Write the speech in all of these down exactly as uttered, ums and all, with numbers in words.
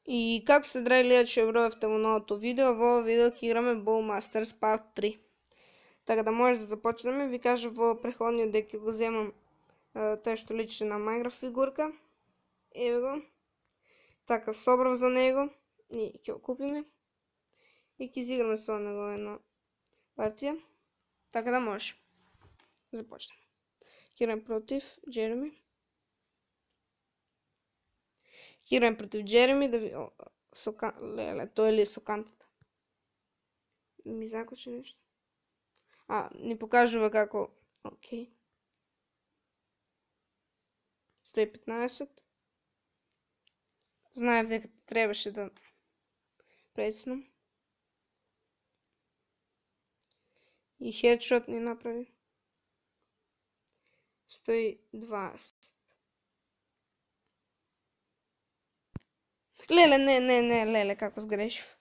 И како се драги гледачи, обровевте во новото видео, во видео ќе играме Bowmasters Part три. Така да може да започнеме, ви кажа во преходниот дека ќе го земам тој што личи на Minecraft фигурка. Еве го. Така собрав за него и ќе го купиме. И ќе изиграме со него една партија. Така да може. Започнеме. Ќе играме против Джереми. Ќе играме против Джереми да ви... О, со кан... Леле, тој ли е со кантата? Ми закочи нешто. А, ни покажува како... Окей. сто и петнаесет. Знаев дека требаше да прецнам. И хедшот ни направи. сто и дваесет. Леле, не, не, не, леле, како сгрешив.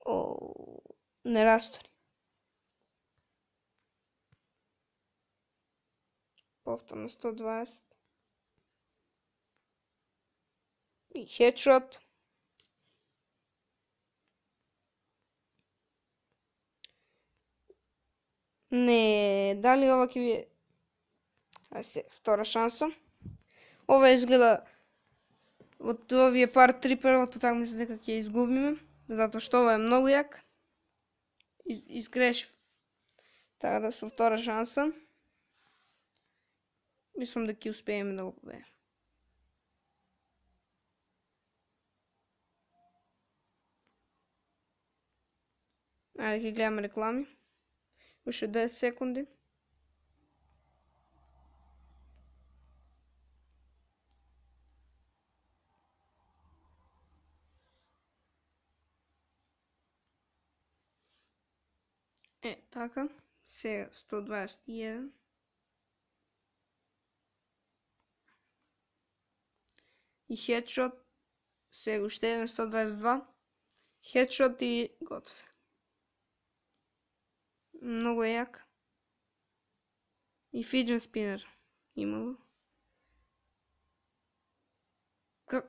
О, не растори. Повторно сто и дваесет. И хедшот. Не, дали ова ќе ви... Ајде се, втора шанса. Ова изгледа од овие парт три првото, така мисля дека ќе изгубиме, затоа што ова е многу јак. Из, изгрешив. Така да со втора шанса. Мислам дека ќе успееме да го победиме. Ајде ќе гледаме реклами. Уште десет секунди. Е, така. Сега сто дваесет и еден. И хедшот. Сега уште еден сто дваесет и два. Хедшот и готов. Многу е јак. И фиджен спинер имало. Как...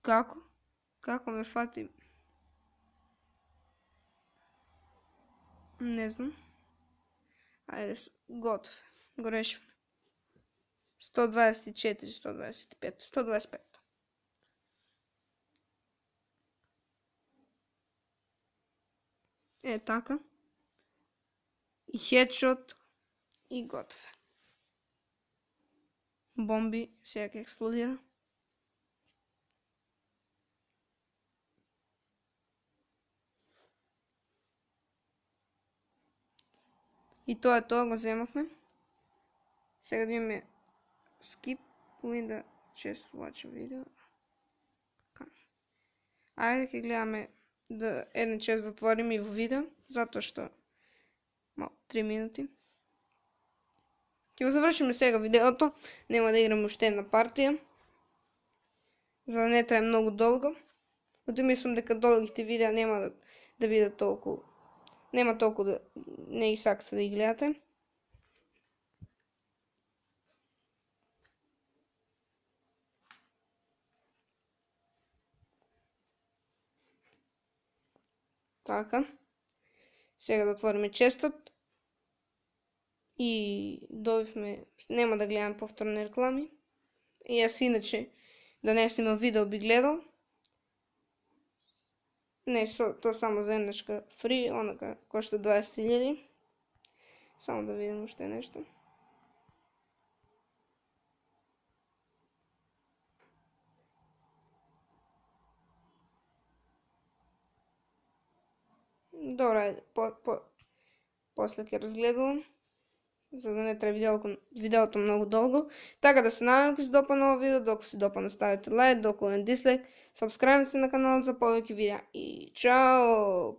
Како? Како ме фати? Не знам. Ајде, готов. Го решивме. сто дваесет и четири, сто дваесет и пет, сто дваесет и пет. Е, така. И хедшот и готов. Бомби, сега ќе експлодира. И тоа е тоа, го земавме. Сега да имаме skip, window, just watch a video. Ајде ќе гледаме да еден час да отвориме и во видео, затоа што мал, три минути. Ќе го завршиме сега видеото, нема да играме уште една партија, за да не трае многу долго. Ото мислам дека долгите видеа нема да, да бидат толку, нема толку да не ги сакате да ги гледате. Така. Сега да отвориме честот. И добивме, нема да гледам повторни реклами. И јас иначе да не снимам видео би гледал. Не, со, то само за еднашка фри, онака кошта дваесет илјади. Само да видим уште нешто. Добро, ајде, по, по, после ќе разгледувам, за да не трае видеото, видеото многу долго. Така да се надевам ќе се допадне ово видео, доколку се допадне ставите лайк, доколку не дислайк, сабскрајбнете се на каналот за повеќе видеа и чао!